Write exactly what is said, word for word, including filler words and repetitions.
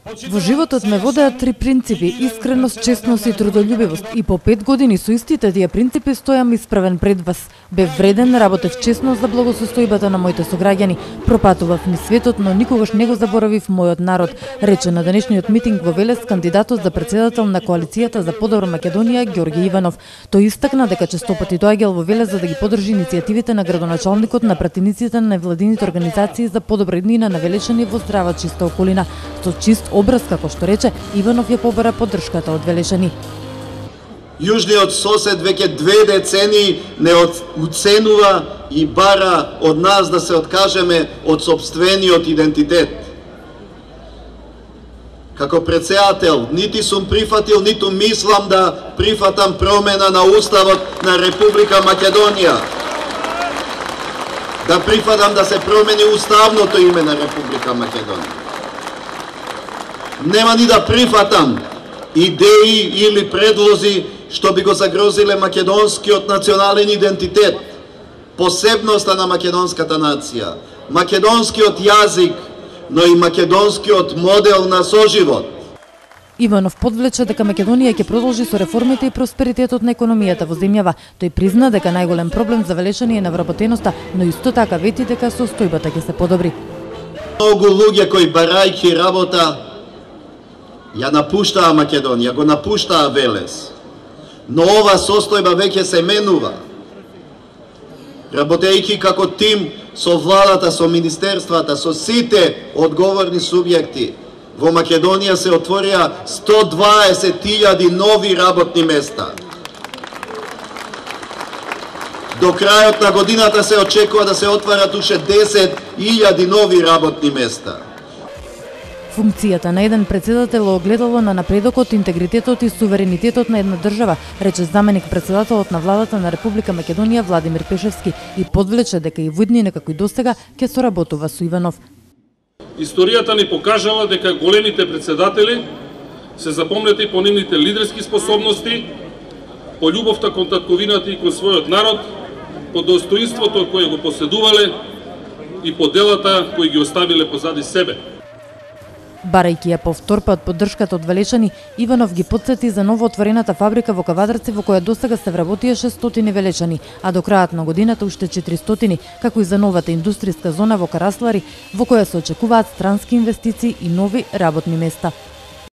Во животот ме водеат три принципи: искреност, честност и трудолюбивост. И по пет години со истите тие принципи стојам исправен пред вас. Бев вреден, работев честно за благосостојбата на моите сограѓани. Пропатував низ светот, но никогаш не го заборавив мојот народ, рече на денешниот митинг во Велес кандидатот за председател на коалицијата за подобра Македонија Ѓорѓе Иванов. Тој истакна дека честопати доаѓал во Велес за да ги подржи иницијативите на градоначалникот на пратениците на невладините организации за подобра иднина на Велешани во здрава чиста околина. Со чист образ, како што рече, Иванов ја побара поддршката од Велешани. Јужниот сосед веќе две децении не уценува и бара од нас да се откажеме од сопствениот идентитет. Како председател, нити сум прифатил, ниту мислам да прифатам промена на Уставот на Република Македонија. Да прифатам да се промени уставното име на Република Македонија. Нема ни да прифатам идеи или предлози што би го загрозиле македонскиот национален идентитет, посебноста на македонската нација, македонскиот јазик, но и македонскиот модел на соживот. Иванов подвлече дека Македонија ќе продолжи со реформите и просперитетот на економијата во земјава. Тој призна дека најголем проблем за Велешани е невработеноста, но исто така вети дека состојбата ќе се подобри. Многу луѓе кои барајќи работа ја напуштаа Македонија, го напуштаа Велес. Но ова состојба веќе се менува. Работејќи како тим со владата, со министерствата, со сите одговорни субјекти, во Македонија се отворија сто дваесет илјади нови работни места. До крајот на годината се очекува да се отварат уште десет илјади нови работни места. Функцијата на еден председател е огледало на напредокот, интегритетот и суверенитетот на една држава, рече заменик председателот на владата на Република Македонија Владимир Пешевски и подвлече дека и во иднина како и досега ќе соработува со Иванов. Историјата ни покажала дека големите председатели се запомнети по нивните лидерски способности, по љубовта кон татковината и кон својот народ, по достоинството кое го поседувале и по делата кои ги оставиле позади себе. Барајќи ја повтор пат поддршката од Велешани, Иванов ги потсети за новоотворената фабрика во Кавадарци во која досега се вработија шестстотини Велешани, а до крајот на годината уште четиристотини, како и за новата индустријска зона во Караслари, во која се очекуваат странски инвестиции и нови работни места.